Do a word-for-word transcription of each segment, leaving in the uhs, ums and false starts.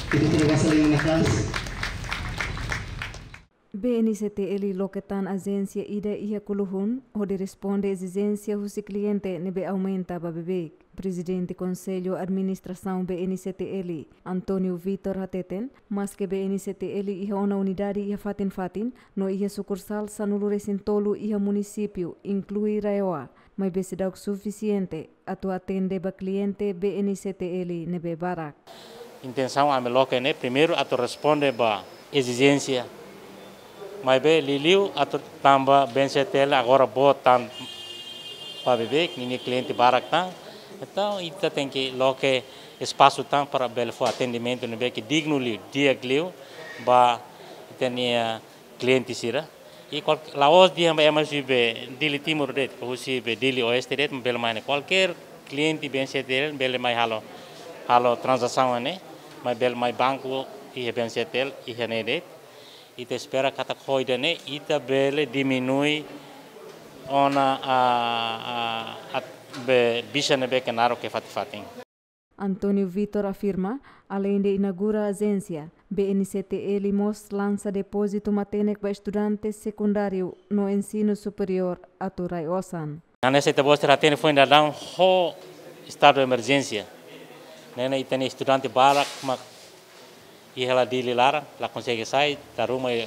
Kita tidak saling menekan. B N C T L loke tan ajénsia ida iha Kuluhun, hodi responde ezijénsia husi kliente ne'ebé aumenta ba beibeik. Prezidente Konsellu Administrasaun B N C T L, António Vitor hateten, maske B N C T L iha ona unidade iha fatin-fatin, no iha sukursál sanulu-resin-tolu iha munisípiu, inklui RAEOA, maibé seidauk sufisiente atu atende ba kliente B N C T L ne'ebé barak. Intensaun ami loke ne'e, primeiru atu responde ba ezijénsia. Maibé liuliu atu tanba B N C T L agora boot tan ba beibeik, ninia kliente barak tan. Entaun, ita tenke loke espasu tan para bele fó atendimentu ne'ebé ke dignu liu, di'ak liu, ba ita-nia kliente sira. I kual-, la'ós dehan ba ema husi be Dili Timur de'it, husi be Dili Oeste de'it, bele mai ne'e. Kualkér kliente B N C T L bele mai halo, halo tranzasaun ne'e, mai bele mai banku iha B N C T L iha ne'e de'it. Ita espera katak ho ida-ne'e, ita bele diminui ona, a, a, a, be, bicha ne'ebé ke naruk iha fatin-fatin. António Vitor afirma, aleinde inaugura ajénsia, B N C T L mós lansa depózitu matenek ba estudante sekundáriu no ensinu superiór atu rai osan. Hanesan ita-boot sira hatene foin daudaun ho estadu de emerjénsia. Ne'e ne'e ita-nia estudante barak mak iha hela Dili laran, la konsege sai, dala ruma iha,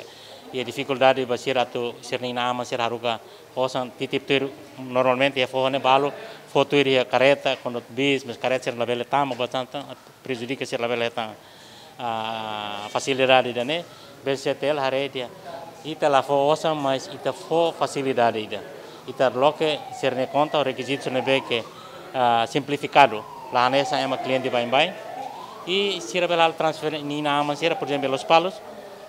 iha difikuldade ba sira atu sira-nia inan-aman sira haruka osan, titip tuir, normalmente iha foho ne'e balu fó tuir iha karreta, kuandu bis, mas karreta sira labele tama, portantu, prejudika sira labele hetan, a, fasilidade ida-ne'e. B N C T L haree dehan ita la fó osan, mas ita fó fasilidade ida. Ita loke sira-nia konta, rekizitu sira ne'ebé ke, a, simplifikadu. La hanesan ema kliente baibain. I sira bele halo transfere, ninia inan-aman sira, por ezemplu, Lospalos,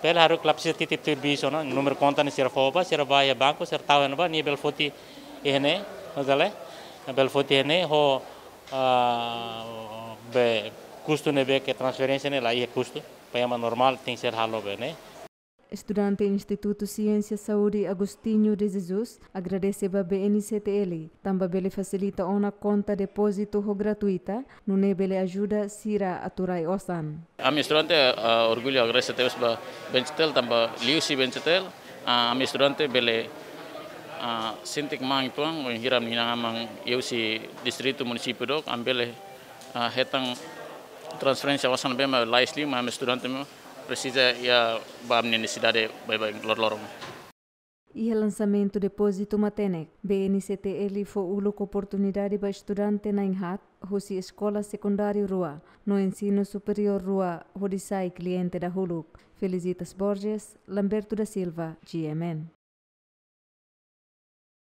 bele haruka, la presiza titip tuir bis ona, númeru konta ne'e sira fó ba, sira bá iha banku, sira tau iha ne'ebá, nia bele foti iha ne'e, mas ale, bele foti iha ne'e, ho, a, be, kustu ne'ebé ke transferénsia ne'e la iha kustu, ba ema normál tenke ser halo be ne'e. Estudante Institutu Siénsia Saúde Agostinho de Jesus agradese ba B N C T L, tanba bele fasilita ona konta depózitu ho gratuita, nune'e bele ajuda sira atu rai osan. Ami estudante, ah, orgullu agradese tebes ba B N C T L, tanba liuhusi B N C T L, ah, ami estudante bele, ah, sente kmaan uitoan, wainhira ami-nia inan-aman iha husi distritu, munisípiu dook, ami bele, ah, hetan transferénsia osan ne'ebé mak lais liu, mak ami estudante mak presiza iha ba ami-nia nesesidade baibain loroloron. Iha lansamentu depózitu matenek, B N C T L fó uluk oportunidade ba estudante na'in-haat husi eskola sekundáriu rua no ensinu superiór rua hodi sai kliente dahuluk. Felicitas Borges, Lamberto da Silva, G M N.